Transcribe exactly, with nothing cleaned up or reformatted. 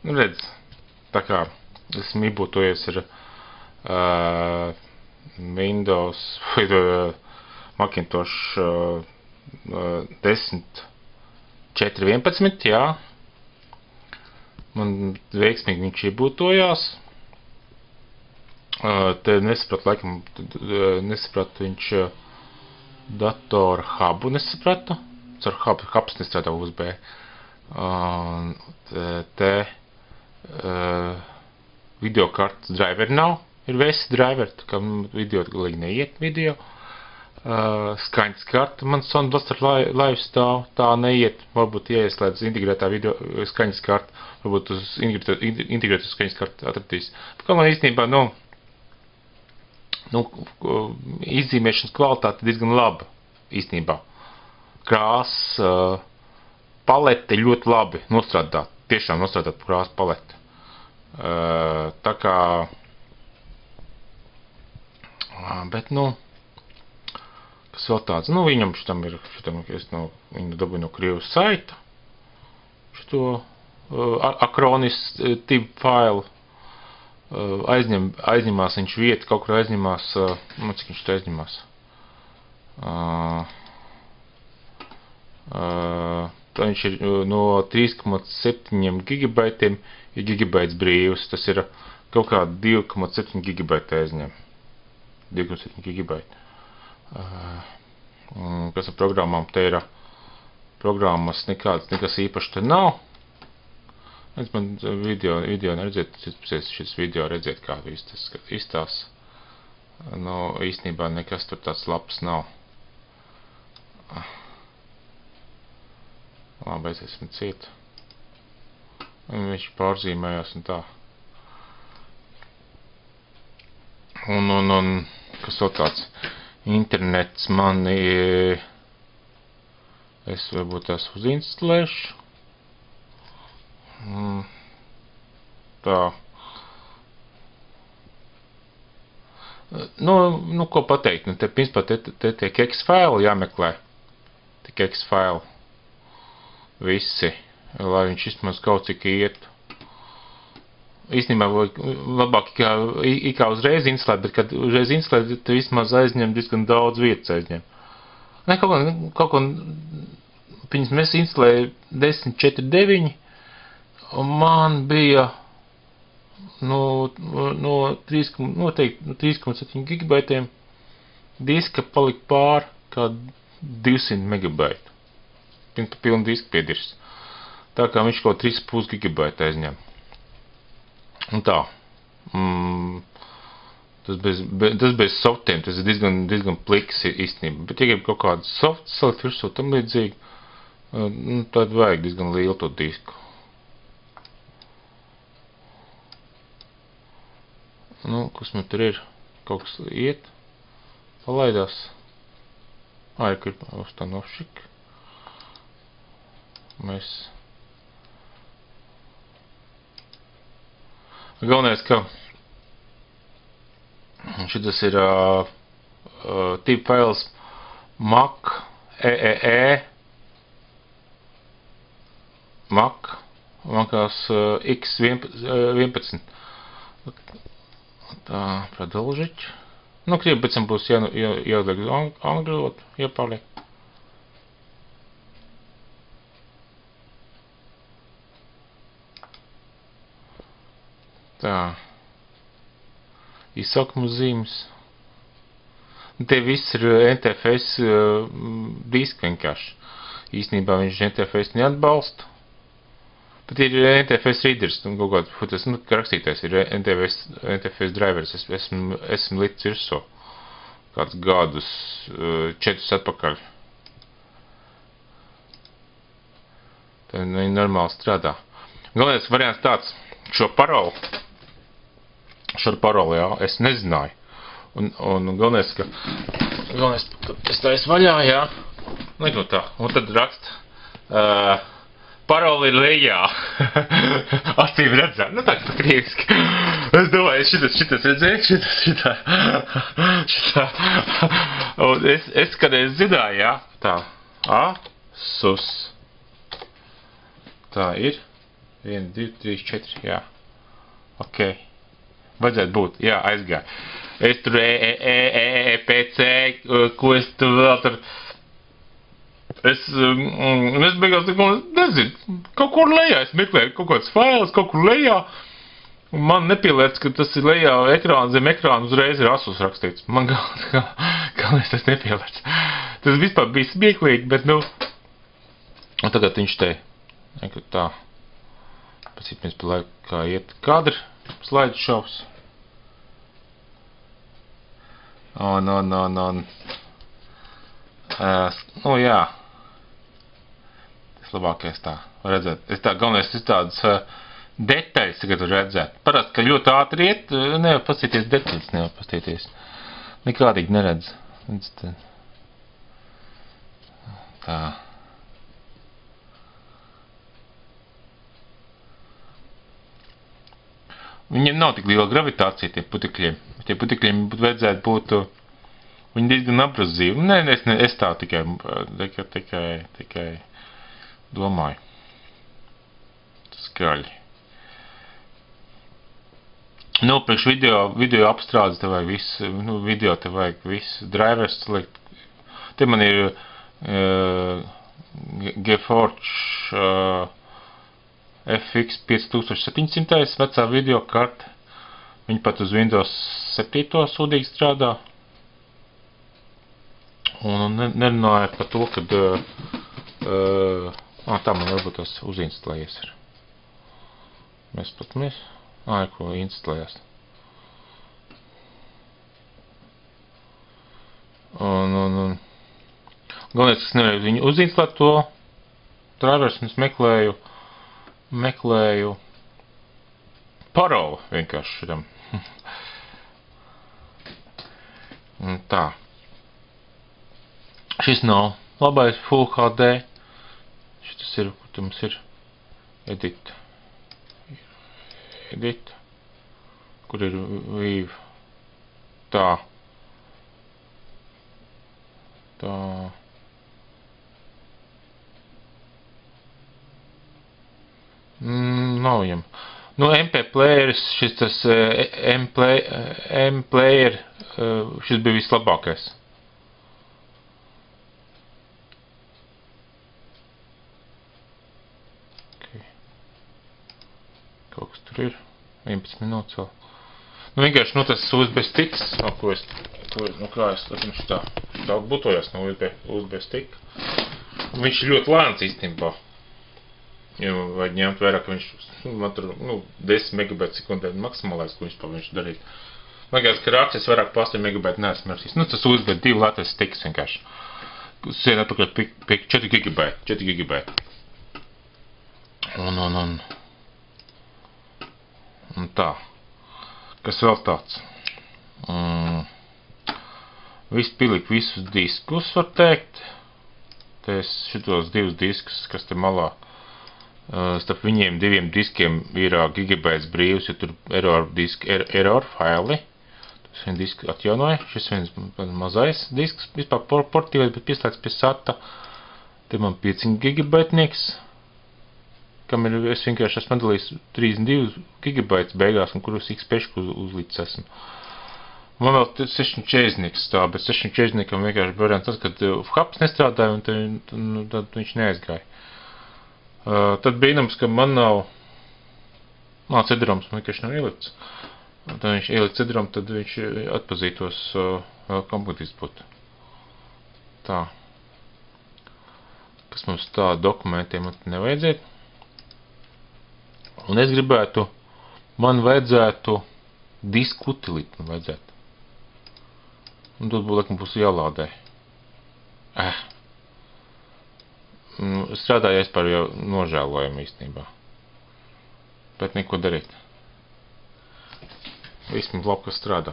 Nu, redz, tā kā esmu iebūtojies ar uh, Windows vai uh, Macintosh uh, uh, desmit četri vienpadsmit, jā. Man veiksmīgi viņš iebūtojās. Uh, te nesapratu, laikam, uh, nesapratu viņš uh, datoru hubu nesapratu. Caur hub, hubs nestrādā U S B. Uh, te te uh, video kartas driver nav. Ir V S driver, tā kā video galīgi neiet video. Uh, skaņas karta man Sound Blaster live stāv, tā neiet. Varbūt ieslēdz integrētā video skaņas karta, varbūt uz integrētu skaņas karta atradīs. Tā kā man īstenībā, nu, nu, izzīmēšanas kvalitāte diezgan laba, īstenībā. Krās uh, palete ļoti labi nostrādāt, tiešām nostrādāt krās palete. Uh, tā kā, uh, bet, nu, kas vēl tāds, nu, viņam šitam ir, šitam, es no, viņu dabūju no Krievijas saita, šito uh, Acronis uh, tip failu, uh, aizņem, aizņemās viņš vietu, kaut kur aizņemās, uh, nu, cik viņš te aizņemās, uh, uh, tā viņš ir uh, no trīs komats septiņi gigabaitiem, ir gigabaits brīvs, tas ir kaut kā divi komats septiņi gigabaiti aizņem, divi komats septiņi gigabaiti. Uh, kas ar programmām te ir programmas nekāds, nekas īpaši te nav. Es man video, video neredzēt, šis video redzēt, kā tas izstās. Nu, īstenībā nekas tur tāds labs nav. Labi, es esmu ciet. Viņš pārzīmējās un tā. Un, un, un, kas vēl tāds? Internets man ir, es varbūt tās uzinstalēšu. Tā. Nu, nu, ko pateikt, nu, te, principā, te, te tiek X-faili jāmeklē. Tiek X-faili. Visi, lai viņš vismaz kaut cik ietu. Īstenībā labāk kā, kā uzreiz instalēt, bet kad uzreiz instalēt, tad vismaz aizņem diezgan daudz vietas aizņem. Ne, kaut ko, kaut ko, piņas mēs instalēju desmit četri deviņi, un man bija no, no trīs komats septiņi gigabaitiem diska palika pār kā divsimt megabaitu. Pirms pilnu disku piedirs. Tā kā viņš kaut trīs komats pieci gigabaiti aizņem. Un tā, mm, tas, bez, be, tas bez softiem, tas ir diezgan, diezgan pliks īstenībā, bet ja grib kaut kādu soft salikt virsū tam līdzīgi, nu, tad vajag diezgan lielu to disku. Nu, kas man tur ir? Kaut kas iet, palaidās. Ā, ir, ka ir ustanošik. Mēs... Galvenais, ka šitas ir uh, uh, tip fails Mac, eee, Mac, Macās uh, X vienpadsmit. Tā, продолжить. Nu, krievi pēc tam būs jā, jā, jāuzliek uz angļu valodu, jāpārliek. Tā, izsaukumu zīmes. Te viss ir N T F S uh, diski vienkārši. Īstenībā viņš N T F S neatbalsta. Bet ir N T F S readers, un kaut kāds, tas, nu, rakstītais ir N T F S, N T F S drivers, es, esmu, esmu licis virsū. Kāds gadus, uh, četrus atpakaļ. Tā viņi normāli strādā. Galvenais variants tāds, šo parolu. Šo paroli, jā, es nezināju. Un, un galvenais, ka, galvenais, es tā esmu vaļā, jā, neko tā, un tad rakst, uh, paroli ir lejā, acīm redzēt, nu tā, tā krieviski. Es domāju, šitas, šitas redzēju, šitas, šitā, šitā, un es, es kādreiz zināju, jā, tā, Asus, tā ir, viens, divi, trīs, četri, jā. Ok. Vajadzētu būt, jā, aizgāju. Es tur E, E, E, E, E, P, C, ko es tur vēl tur... Es, um, es beigās, nezinu, kaut kur lejā, es meklēju kaut kāds fails, kaut kur lejā, un man nepielēc, ka tas ir lejā ekrāna, zem ekrāna uzreiz ir Asus rakstīts. Man galvenais tas nepielēc. Tas vispār bija smieklīgi, bet, nu, un tagad viņš te, nekad tā, pēc cik mēs pa laiku kā iet kadri, slaidu šovs. Un, un, un, un, uh, nu, jā. Tas labākais tā, var redzēt. Es tā, galvenais, es tādas uh, detaļas tagad var redzēt. Parasti, ka ļoti ātri iet, nevar pastīties detaļas, nevar pastīties. Nekādīgi neredz. Tā. Viņiem nav tik liela gravitācija, tie putekļiem. Tie putekļiem vajadzētu būt, viņi diezgan abrazīvi. Nē, es, ne, es tā tikai, tikai, tikai, tikai domāju. Skaļi. Nu, priekš video, video apstrādes te vajag visu, nu, video te vajag visu drivers likt. Te man ir uh, GeForce uh, F X piectūkstoš septiņsimt vecā video karte. Viņa pat uz Windows septiņi sūdīgi strādā. Un nerunāja par to, kad uh, uh, tā man varbūt tas uzinstalējies ir. Mēs pat mēs, ā, ko instalējās. Un, un, un galvenais, es nevarēju viņu uzinstalēt to drivers, un es meklēju meklēju paroli vienkārši šitam. Un tā. Šis nav labais Full H D. Šitas ir, kur te mums ir edit. Edit. Kur ir Vive. Tā. Tā. Mm, nav viņam. Nu, M P playeris, šis tas uh, M-player, uh, šis bija vislabākais. Okay. Kaut kas tur ir. vienpadsmit minūtes vēl. Nu, vienkārši, nu, tas U S B sticks, no, ko es, ko, nu, kā es, viņš tā, tā butojās no U S B, U S B stick. Viņš ir ļoti lēns īstenībā. Jo vajag ņemt vairāk, ka viņš, man tur, nu, desmit megabaitu sekundē maksimālais, ko viņš pa viņš darīt. Man liekas, ka rāksies vairāk pa astoņi megabaitu neesmu mērķis. Nu, tas U S B divi lētais sticks vienkārši. Sien atpakaļ pie, pie četri gigabaiti, četri gigabaiti. Un, un, un. Un tā. Kas vēl tāds? Mm. Viss pilik visus diskus, var teikt. Te es šitos divus diskus, kas te malā. Uh, starp viņiem diviem diskiem ir uh, gigabaits brīvs, jo tur error diski, er, error faili. Tas vien disks atjaunoja. Šis viens mazais disks, vispār portīvais, bet pieslēdz pie sata. Te man pieci gigabaitnieks, kam ir, es vienkārši esmu atdalījis trīsdesmit divi gigabaits beigās, un kurus X pešku uz, uzlīdz esmu. Man vēl sešdesmit četrdesmitnieks tā, bet sešdesmit četrdesmitniekam vienkārši variants tas, kad uh, hubs nestrādāja, un tad, nu, tad viņš neaizgāja. Uh, tad brīnums, ka man nav, nā, cedrums man vienkārši nav ielikts. Tad viņš ielikt cedrumu, tad viņš atpazītos uh, vēl komplektiski būtu. Tā. Kas mums tā dokumentiem nevajadzētu. Un es gribētu, man vajadzētu disku utilīt, man vajadzētu. Un tad būtu, laikam, būs jālādē. Eh. Strādāju es par jau nožēlojumu īstenībā. Bet neko darīt. Viss mums labi, kas strādā.